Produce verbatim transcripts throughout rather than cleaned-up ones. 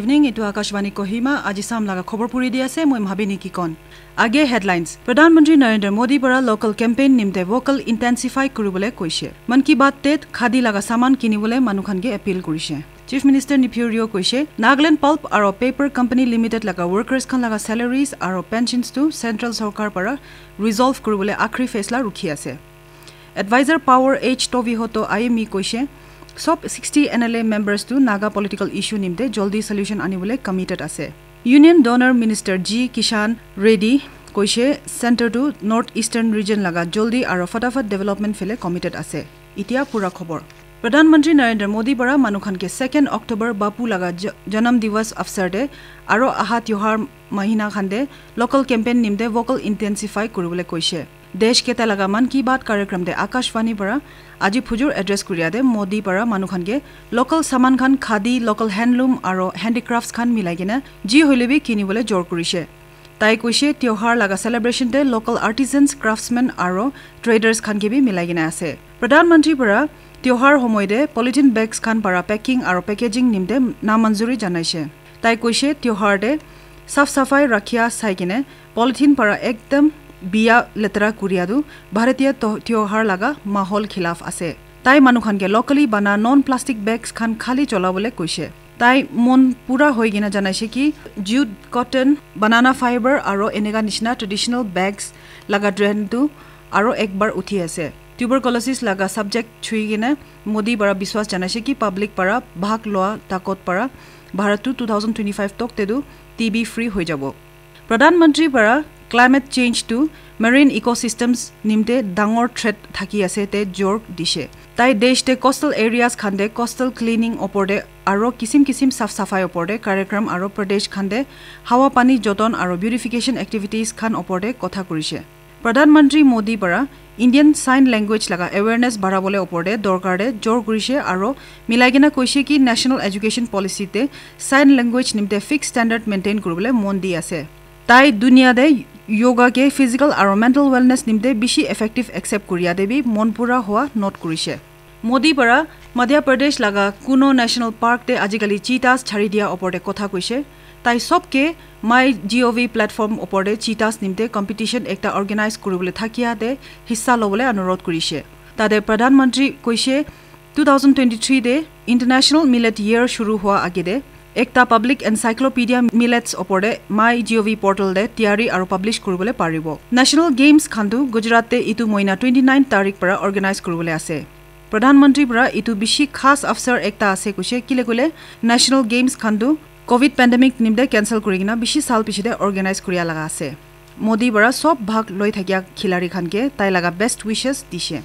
Ning etu Akashvani Kohima, aji sam laga khobor puri di ase, moi Mhabini Kikon. Age headlines. Pradhan Mantri Narendra Modi para local campaign nimte vocal intensify kuribole koise. Mann Ki Baat te khadi laga saman kinibole manu khan ke appeal kurise. Chief Minister Neiphiu Rio koise, Nagaland Pulp aro Paper Company Limited laga workers khan laga salaries aro pensions tu central sorkar para resolve kuribole akhri faisla rukhi ase. Advisor Power H Tovihoto I M E koise, sob sixty N L A members tu Naga political issue nimte joldi solution anibole committed ase. Union Donor Minister G Kishan Reddy koise, center tu North Eastern region laga joldi aro fatafat development phele committed ase. Itia pura khobor. Pradhan Mantri Narendra Modi para manu khan ke second October Bapu laga ja-, Janam Divas avsar te aro aha tyohar mahina khan te local campaign nimte vocal intensify kuribole koise. Desh keta laga Mann Ki Baat karyakrama te Akashvani para aji phujur address kuria te Modi para manu khan ke local saman khan, khadi, local handloom aro handicrafts khan milai kena ji hoile bi kinibole jor kurise. Tai koise tyohar laga celebration te local artisans, craftsmen aro traders khan ke bi milai kena ase. Pradhan Mantri para tyohar homoy te polythene bags khan para packing aro packaging nimte namanzuri janaise. Tai koise tyohar te saf safai rakhia sai kene polythene para ekdam biya letera kuria tu Bharatiya to-, tyohar laga mahol khilaf ase. Tai manu khan ke locally bana non plastic bags khan khali cholabole koise. Tai mon pura hoi kena janaise ki jute, cotton, banana fiber aro eneka nishina traditional bags laga trend tu aro ekbar uthi ase. Tuberculosis laga subject chui kena Modi para biswas janaise ki public para bhag loa takot para Bharat tu two thousand twenty-five tok te tu T B free hoi jabo. Pradhan Mantri para climate change tu marine ecosystems nimte dangor threat thaki ase te jor dise. Tai desh te coastal areas khan te coastal cleaning opor te aro kisim kisim saf safai opor te karyakrama aro Pradesh khan te hawa pani joton aro beautification activities khan opor te kotha kurise. Pradhan Mantri Modi para Indian Sign Language laga awareness barabole opor te dorkar te jor kurise aro milai kena koise ki National Education Policy te sign language nimte fixed standard maintain kuribole mon di ase. Tai dunia te yoga ke physical aro mental wellness nimte bishi effective accept kuria te bi mon pura hoa note kurise. Modi para Madhya Pradesh laga Kuno National Park te ajikali cheetahs chari dia opor te kotha koise. Tai sob ke My G O V platform opor te cheetahs nimte competition ekta organize kuribole thakia te hissa lobole anurodh kurise. Tate Pradhan Mantri koise, two thousand twenty-three te International Millet Year shuru hua age te ekta public encyclopedia millets opor te My G O V portal te tiyari aru publish kuribole paribo. National Games khan tu Gujarat te itu moina twenty nine tarik para organize kuribole ase. Pradhan Mantri para itu bishi khas avsar ekta ase koise, kile koile National Games khan tu covid pandemic nimte cancel kuri kena bishi sal piche te organize kuria laga ase. Modi para sob bhag loi thakia khilari khan ke tai laga best wishes dishe.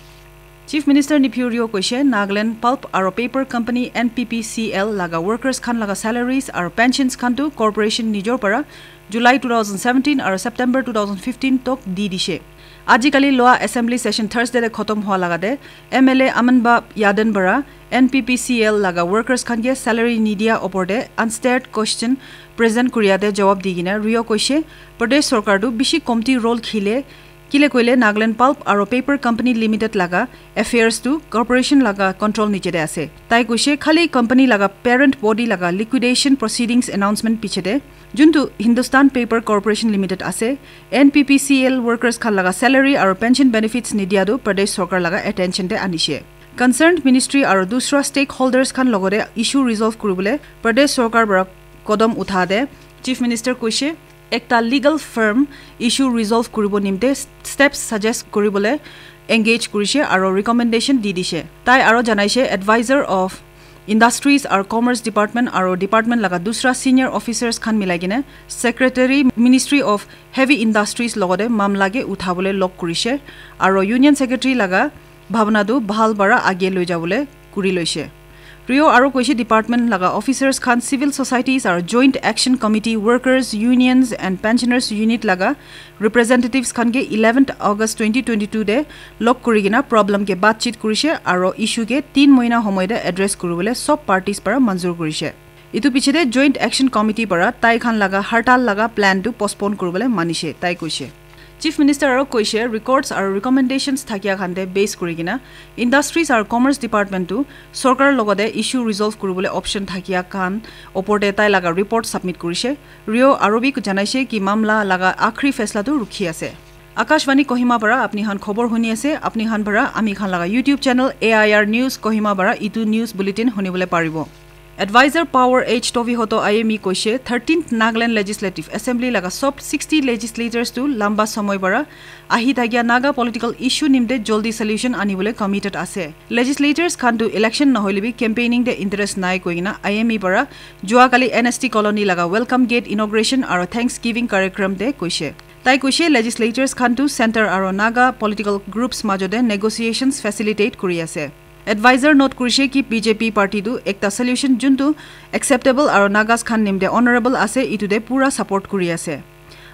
Chief Minister Neiphiu Rio koise, Nagaland Pulp aro Paper Company, N P P C L, laga workers khan laga salaries aro pensions khan tu corporation nijor para July two thousand seventeen aro September two thousand fifteen tok di dishe. Ajikali loa assembly session Thursday te khotom hua laga te M L A Amanba Yaden para N P P C L laga workers khan ke salary nidia opor te unstarred question present kuria te jawab di kena Rio koise, Pradesh sorkar tu bishi komti role khile, kile koile Nagaland Pulp aro Paper Company Limited laga affairs tu corporation laga control niche te ase. Tai koise khali company laga parent body laga liquidation proceedings announcement piche te juntu Hindustan Paper Corporation Limited ase, N P P C L workers khan laga salary aro pension benefits nidia tu Pradesh sorkar laga attention te anishe. Concerned ministry aro dusra stakeholders khan logote issue resolve kuribole Pradesh sorkar para kodom utha te Chief Minister koise, ekta legal firm issue resolve kuribo nimte steps suggest kuribole engage kurishe aro recommendation di dishe. Tai aro janaishe, advisor of Industries aro Commerce Department aro department laga dusra senior officers khan milai kene Secretary, Ministry of Heavy Industries logote mamla ke uthabole log kurishe aro Union Secretary laga bhabna tu bhal para age loi jabole kuri loishe. Rio aro koishe department laga officers khan civil societies aro Joint Action Committee, workers, unions and pensioners unit laga representatives khan ke eleventh August twenty twenty-two te log kuri kena problem ke batchit kurishe aro issue ke tin moina homoy te address kuribole sob parties para manzur kurishe. Itu piche te Joint Action Committee para tai khan laga hartal laga plan tu postpone kuribole manishe, tai koishe. Chief Minister aro koishe records aro recommendations thakia khan te base kuri kena industries aro commerce department tu sorkar logote issue resolve kuribole option thakia khan opor te tai laga report submit kurishe. Rio aro bi janaishe ki mamla laga akhri faisla tu rukhi ase. Akashvani Kohima para apni khan khobor huni ase, apni khan para ami khan laga YouTube channel A I R News Kohima para itu news bulletin hunibole paribo. Advisor Power H Tovi Hoto I M E koishe thirteenth Nagaland Legislative Assembly laga sob sixty legislators tu lamba somoy para ahi thakia Naga political issue nimte joldi solution anibole committed ase. Legislators khan tu election nohoile bi campaigning te interest nai koikena I M E para jua kali N S T colony laga welcome gate inauguration aro Thanksgiving कार्यक्रम te koishe. Tai koishe legislators khan tu center aro Naga political groups majote negotiations facilitate kuri ase. Advisor note kurishe ki B J P party tu ekta solution juntu acceptable aro Nagas khan nimte honorable ase itu te pura support kuri ase.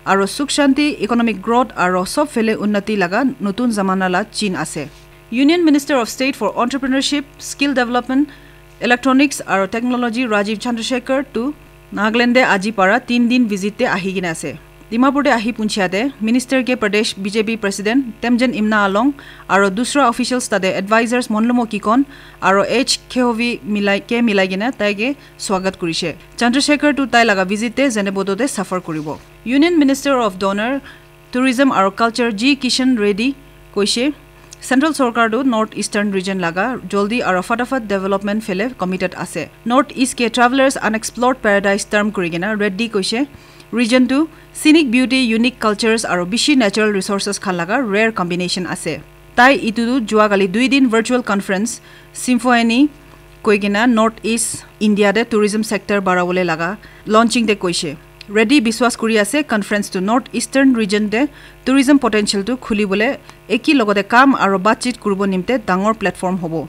Aro sukh shanti, economic growth aro sob phele unnati laga notun zamana la chin ase. Union Minister of State for Entrepreneurship, Skill Development, Electronics aro Technology Rajiv Chandrasekhar tu Nagaland te aji para tin din visit te ahi kena ase. Dimapur te ahi punchia te Minister ke Pradesh B J P President Temjen Imna Along aro dusra officials tate advisors Monlomo Kikon aro H Khehovi milai ke milai kena tai ke swagat kurishe. Chandrasekhar tu tai laga visit te Zunheboto te safar kuribo. Union Minister of Donor, Tourism aro Culture G Kishan Reddy koishe, Central Sorkar tu North Eastern Region laga joldi aro fatafat development phele committed ase. North East ke travelers unexplored paradise term kuri kena Reddy koishe, region tu scenic beauty, unique cultures aro bishi natural resources khan laga rare combination ase. Tai itu tu jua kali dui din virtual conference Symphony koi kena North East India te tourism sector barabole laga launching te koishe. Reddy biswas kuri ase conference tu North Eastern region te tourism potential tu khulibole eki logote kam aro batchit kuribo nimte dangor platform hobo.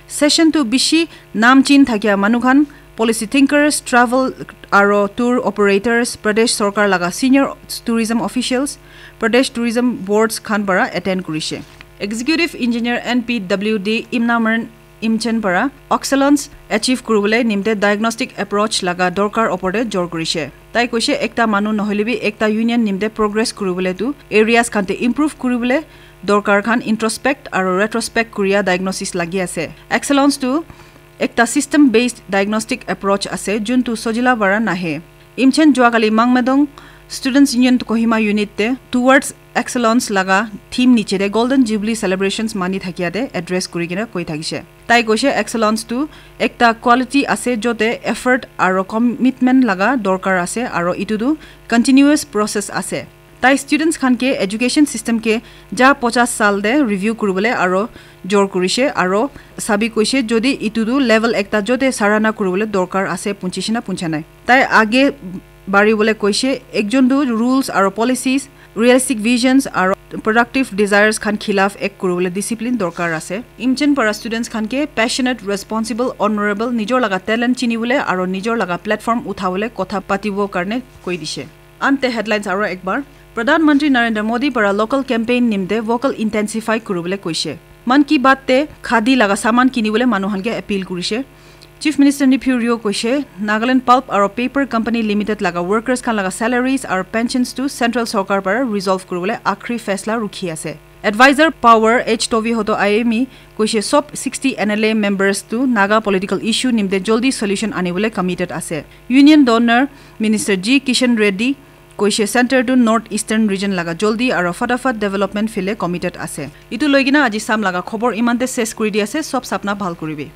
Session tu bishi nam chin thakia manu khan, policy thinkers, travel aro tour operators, Pradesh Sorkar laga senior tourism officials, Pradesh tourism boards khan para attend kurishe. Executive Engineer N P W D Imnamran Imchen para excellence achieve kuribole nimte diagnostic approach laga dorkar opor te jor kurishe. Tai koishe ekta manu nohoile bi ekta union nimte progress kuribole tu areas khan te improve kuribole dorkar khan introspect aro retrospect kuria diagnosis lagi ase. Excellence tu ekta system based diagnostic approach ase juntu sojila para nahe. Imchen juakali Mangmedong Students Union Kohima Unit te Towards Excellence laga theme niche te Golden Jubilee Celebrations mani thakia te address kuri kena koi thakishe. Tai koishe excellence tu ekta quality ase jote effort aro commitment laga dorkar ase aro itu tu continuous process ase. Tai students khan ke education system ke ja pachas sal te review kuribole aro jor kurishe aro sabi koishe jodi itu tu level ekta jote sarana kuribole dorkar ase punchishina puncha nai. Tai age baribole koishe ekjon tu rules aro policies, realistic visions aro productive desires khan khilaf ek kuribole discipline dorkar ase. Imchen para students khan ke passionate, responsible, honorable, nijor laga talent chinibole aro nijor laga platform uthabole kotha patibo karne koi dishe. Ante headlines aro ekbar. Pradhan Mantri Narendra Modi para local campaign nimte vocal intensify kuribole koishe. Mann Ki Baat te khadi laga saman kinibole manu khan ke appeal kurishe. Chief Minister Neiphiu Rio koishe, Nagaland Pulp aro Paper Company Limited laga workers khan laga salaries aro pensions tu Central Sorkar para resolve kuribole akhri faisla rukhi ase. Advisor Power H Tovi Hoto I M E koishe sob sixty N L A members tu Naga political issue nimte joldi solution anibole committed ase. Union Donor Minister G Kishan Reddy koishe center tu North Eastern Region laga joldi aro fatafat development phile committed ase. Itu loigena aji sam laga khobor imante ses kuri di ase, sob sapna bhal kuribi.